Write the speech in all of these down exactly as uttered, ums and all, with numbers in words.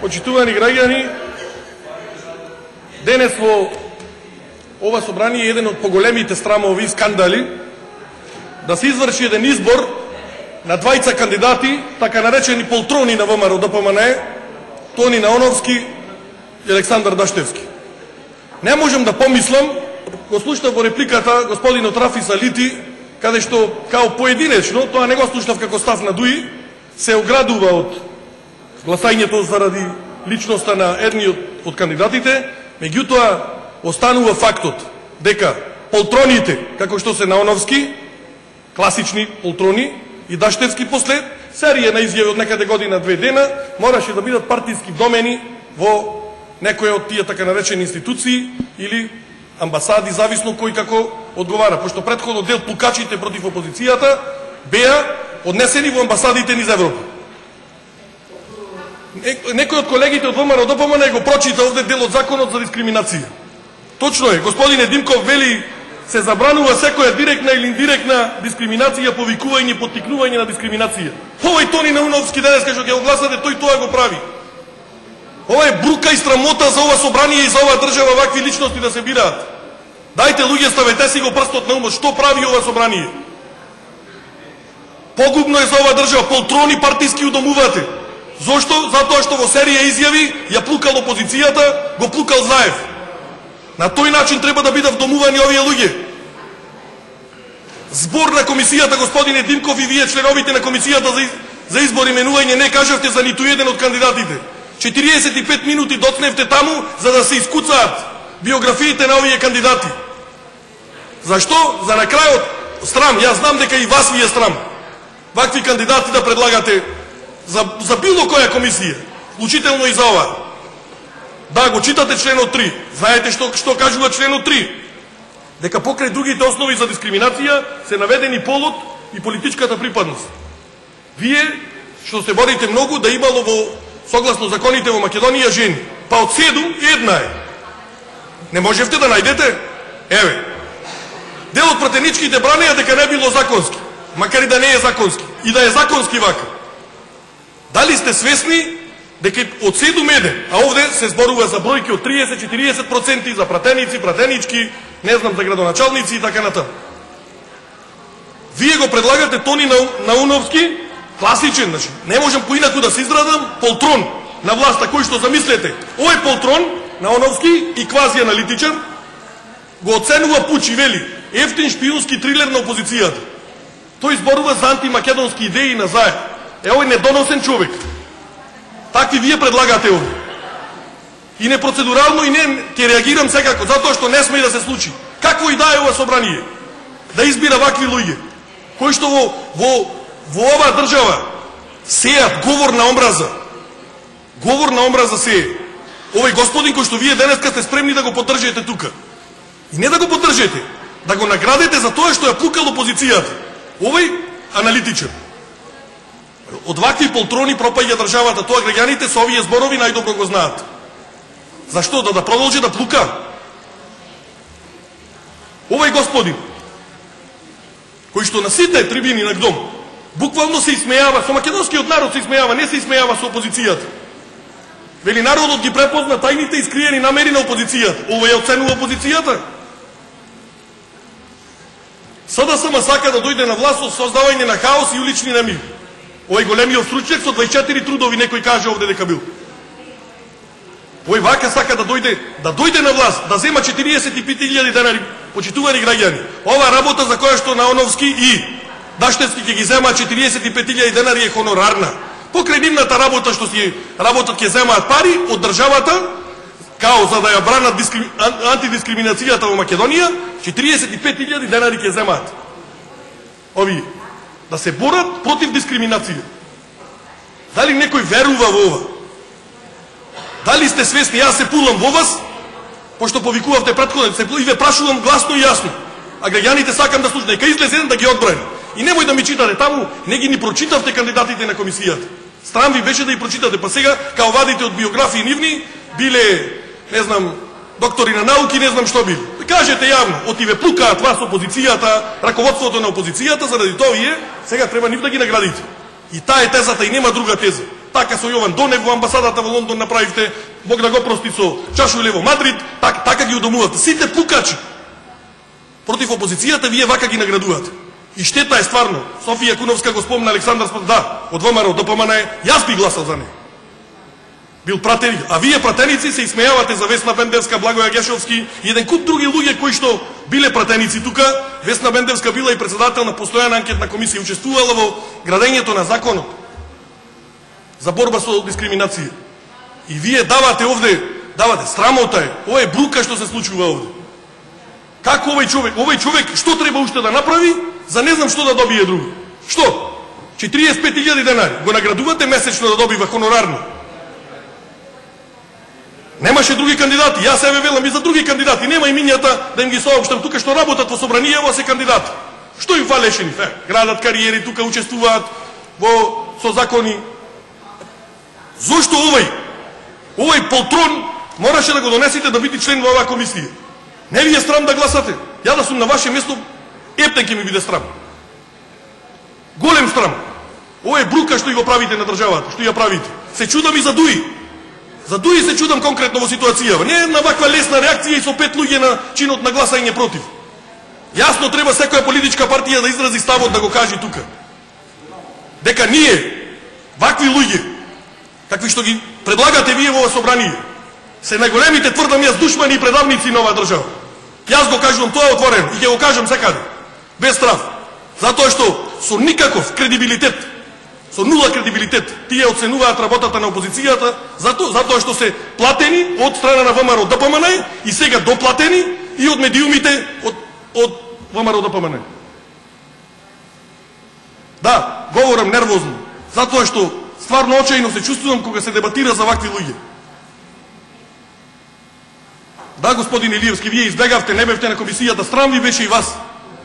Почитувани граѓани, денес во ова собрание е еден од поголемите срамови и скандали да се изврши еден избор на двајца кандидати, така наречени полтрони на ВМРО Д П М Н, Тони Наоновски и Александар Даштевски. Не можам да помислам, го слушнав во репликата господинот Рафи Салити, каде што као поединечно, тоа не го слушнав како став на Дуи, се оградува од гласањето заради личноста на едниот од кандидатите, меѓутоа останува фактот дека полтроните, како што се Наоновски, класични полтрони, и Даштевски после серија на изјави од некаде година две дена, мораше да бидат партиски домени во некоја од тие така наречени институции или амбасади, зависно кој како одговара, пошто претходно дел пукачите против опозицијата беа однесени во амбасадите низ Европа. Некој од колегите од ВМРО Д П М Н го прочита овде дел од законот за дискриминација. Точно е, господине Димков вели се забранува секоја директна или индиректна дискриминација, повикување, поттикнување на дискриминација. Овој Тони Наоновски денес што ќе го гласате, тој тоа го прави. Ова е брука и срамота за ова собрание и за ова држава вакви личности да се бираат. Дајте луѓе, ставете си го прстот на умот, што прави ова собрание? Погубно е за ова држава, полтрони партиски удомувате. Зошто? Затоа што во серија изјави ја плукал опозицијата, го плукал Заев. На тој начин треба да бидат вдомувани овие луѓе. Збор на комисијата, господине Димков, и вие членовите на комисијата за, за избор и менување не кажавте за ниту еден од кандидатите. четириесет и пет минути доцневте таму за да се искуцаат биографиите на овие кандидати. Зашто? За на крајот срам. Јас знам дека и вас ви е срам вакви кандидати да предлагате за, за било која комисија, вклучително и за ова. Да, го читате членот три. Знаете што, што кажува членот три? Дека покрај другите основи за дискриминација се наведени полот и политичката припадност. Вие, што се борите многу, да имало во, согласно законите во Македонија, жени. Па од седум, една е. Не можевте да најдете? Еве. Дел од пратеничките бранеа дека не било законски. Макар и да не е законски. И да е законски вака. Дали сте свесни дека од седум еден, а овде се зборува за бројки од триесет до четириесет проценти за пратеници, пратенички, не знам за градоначалници и така натаму. Вие го предлагате Тони Наоновски, класичен, значи, не можам поинаку да се израдам, полтрон на власта, кој што замислете. Овој полтрон, Наоновски и квази-аналитичар, го оценува Пучи, вели, ефтин шпионски трилер на опозицијата. Тој зборува за антимакедонски идеи на Заев. Е, овој недоносен човек. Такви вие предлагате овде. И непроцедурално и не ќе реагирам секако, затоа што не сме и да се случи. Какво и да е ова собрание? Да избира вакви луѓе, кои што во, во, во оваа држава сеат говор на омраза. Говор на омраза сее. Овој господин кој што вие денеска сте спремни да го поддржите тука. И не да го поддржите, да го наградите за тоа што ја плукал опозицијата. Овој аналитичар. Од вакви полтрони пропаѓа државата, тоа граѓаните со овие зборови најдобро го знаат. Зашто? Да да продолжи да плука? Овој господин, кој што на сите трибини на ГДОМ, буквално се исмејава, со македонскиот народ се исмејава, не се исмејава со опозицијата. Вели, народот ги препозна тајните и скриени намери на опозицијата. Овој ја оценува опозицијата. СДСМ сака да дојде на власт со создавање на хаос и улични немири. Овој големиот стручњак со дваесет и четири трудови, некој каже овде дека бил. Овој вака сака да дојде, да дојде на власт, да зема четириесет и пет илјади денари, почитувани граѓани. Ова работа за која што Наоновски и Даштевски ќе ги земаат четириесет и пет илјади денари е хонорарна. Покрај нивната работа што си работат ќе земаат пари од државата, као за да ја бранат дискрим... антидискриминацијата во Македонија, четириесет и пет илјади денари ќе земаат. Овие да се борат против дискриминација. Дали некој верува во ова? Дали сте свесни? Јас се пулам во вас, пошто повикувавте претходно, се и ве прашувам гласно и јасно. А граѓаните сакам да слушнат, нека излезе еден да ги одбрани. И немој да ми читате таму, не ги ни прочитавте кандидатите на комисијата. Страм ви беше да ги прочитате, па сега као вадите од биографии нивни, биле, не знам, доктори на науки, не знам што били. Кажете јавно, оти ве плукаат вас опозицијата, раководството на опозицијата, заради тоа вие сега треба нив да ги наградите. И таа е тезата и нема друга теза. така со Јован Донев во амбасадата во Лондон направивте, Бог да го прости со Чашуеле во Мадрид, так, така ги удомувате. Сите пукачи против опозицијата вие вака ги наградувате. И штета е стварно. Софија Куновска го спомна, Александар Спас, да, од ВМРО до ПМН е, јас би гласал за неј. Бил пратеник, а вие пратеници се исмејавате за Весна Бендевска, Благоја Гешовски и еден куп други луѓе кои што биле пратеници тука. Весна Бендевска била и председател на постојана анкетна комисија, учествувала во градењето на законот за борба со дискриминација. И вие давате овде, давате, срамота е, ова е брука што се случува овде. Како овој човек, овој човек што треба уште да направи, за не знам што да добие друго. Што? четириесет и пет илјади денари, го наградувате месечно да добива хонорарно. Немаше други кандидати, јас се велам и за други кандидати, нема имињата да им ги соопштам тука што работат во собранијево се кандидати. Што им фалеше ни? Е, градат кариери, тука учествуваат во со закони. Зошто овој, овој полтрон мораше да го донесете да биде член во оваа комисија? Не ви е срам да гласате? Ја да сум на ваше место, ептен ќе ми биде срам. Голем срам. Ова е брука што ја го правите на државата, што ја правите. Се чудам и за Дуи. За Дуи се чудам конкретно во ситуацијава. Не е на ваква лесна реакција и со пет луѓе на чинот на гласање против. Јасно треба секоја политичка партија да изрази ставот да го каже тука. Дека ние, вакви луѓе, какви што ги предлагате вие во собрание, се најголемите, тврдам јас, душмани и предавници на оваа држава. Јас го кажувам тоа отворено и ќе го кажам секаде. Без страв. Затоа што со никаков кредибилитет, со нула кредибилитет, тие оценуваат работата на опозицијата, затоа, затоа што се платени од страна на ВМРО ДПМН и сега доплатени и од медиумите од, од ВМРО ДПМН. Да, говорам нервозно, затоа што стварно очајно се чувствувам кога се дебатира за вакви луѓе. Да, господин Илиевски, вие избегавте, не бевте на комисијата, страм ви беше и вас.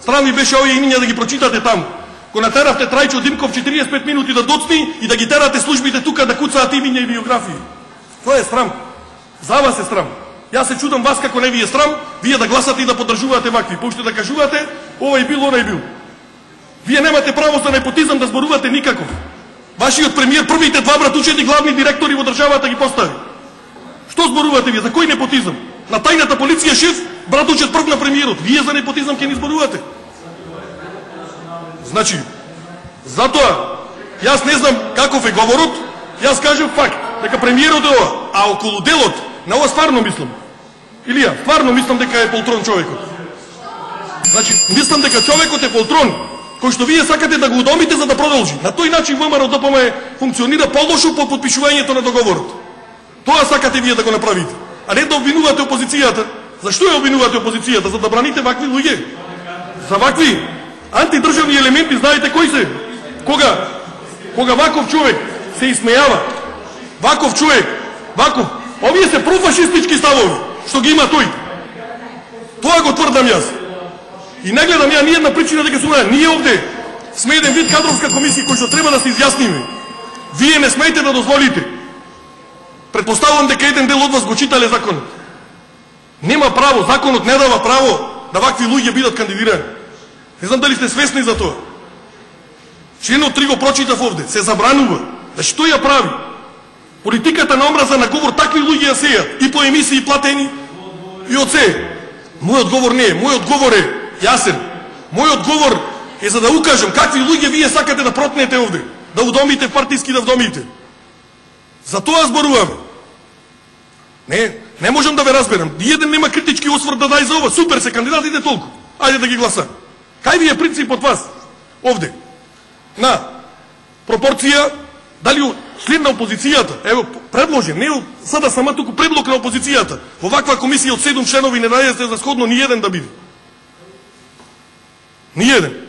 Страм ви беше овие имиња да ги прочитате таму. Го натеравте Трајчо Димков четириесет и пет минути да доцни и да ги терате службите тука да куцаат имиња и биографии. Тоа е срам. За вас е срам. Јас се чудам вас како не ви е срам, вие да гласате и да поддржувате вакви. Поуште да кажувате, овој бил, оној бил. Вие немате право за непотизам да зборувате никаков. Вашиот премиер првите два братучети главни директори во државата ги постави. Што зборувате вие? За кој непотизам? На тајната полиција шеф, братучет прв на премиерот. Вие за непотизам ќе ни зборувате? Значи, затоа, јас не знам каков е говорот, јас кажем факт, дека премиерот е ова, а околу делот, на ова стварно мислам. Илија, стварно мислам дека е полтрон човекот. Значи, мислам дека човекот е полтрон, кој што вие сакате да го удомите за да продолжи. На тој начин ВМРО ДПМ функционира полошо по подпишувањето на договорот. Тоа сакате вие да го направите. А не да обвинувате опозицијата. Зашто ја обвинувате опозицијата? За да браните вакви луѓе? За вакви антидржавни елементи, знаете кои се? Кога? Кога ваков човек се исмејава. Ваков човек, ваков. Овие се профашистички ставови, што ги има тој. Тоа го тврдам јас. И не гледам ја ниједна причина дека сум ние овде сме еден вид кадровска комисија кој што треба да се изјасниме. Вие не смеете да дозволите. Предпоставувам дека еден дел од вас го читале законот. Нема право, законот не дава право да вакви луѓе бидат кандидирани. Не знам дали сте свесни за тоа. Членот три го прочитав овде, се забранува. Да што ја прави? Политиката на омраза на говор такви луѓе ја сејат и по емисии платени и од се. Мојот говор не е, мојот говор е јасен. Мојот говор е за да укажам какви луѓе вие сакате да протнете овде, да удомите партиски да вдомите. За тоа зборуваме. Не, не можам да ве разберам. Еден нема критички осврт да дај за ова. Супер се кандидатите толку. Ајде да ги гласам. Кај ви е принципот вас овде? На пропорција, дали член на опозицијата, ево предложен, не сада сама туку предлог на опозицијата. Во ваква комисија од седум членови не најдете за сходно ни еден да биде. Ни еден.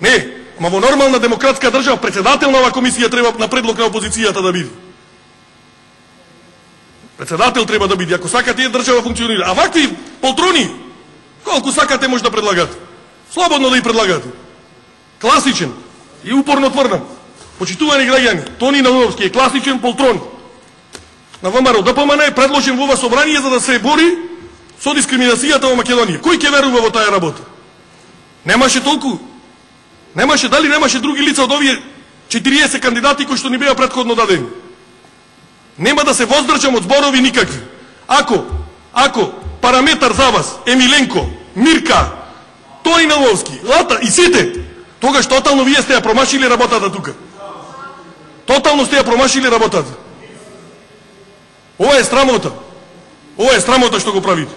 Не, ама во нормална демократска држава председател на оваа комисија треба на предлог на опозицијата да биде. Председател треба да биде, ако сакате е држава функционира. А вакви полтрони, колку сакате може да предлагате. Слободно да ги предлагате. Класичен и упорно тврдам. Почитувани граѓани, Тони Наумовски е класичен полтрон. На ВМРО ДПМН е предложен во ова собрание за да се бори со дискриминацијата во Македонија. Кој ќе верува во таа работа? Немаше толку. Немаше, дали немаше други лица од овие четириесет кандидати кои што ни беа претходно дадени? Нема да се воздржам од зборови никакви. Ако, ако параметар за вас е Миленко, Мирка, Тони Наловски, Лата и сите, тогаш тотално вие сте ја промашили работата тука. Тотално сте ја промашили работата. Ова е срамота. Ова е срамота што го правите.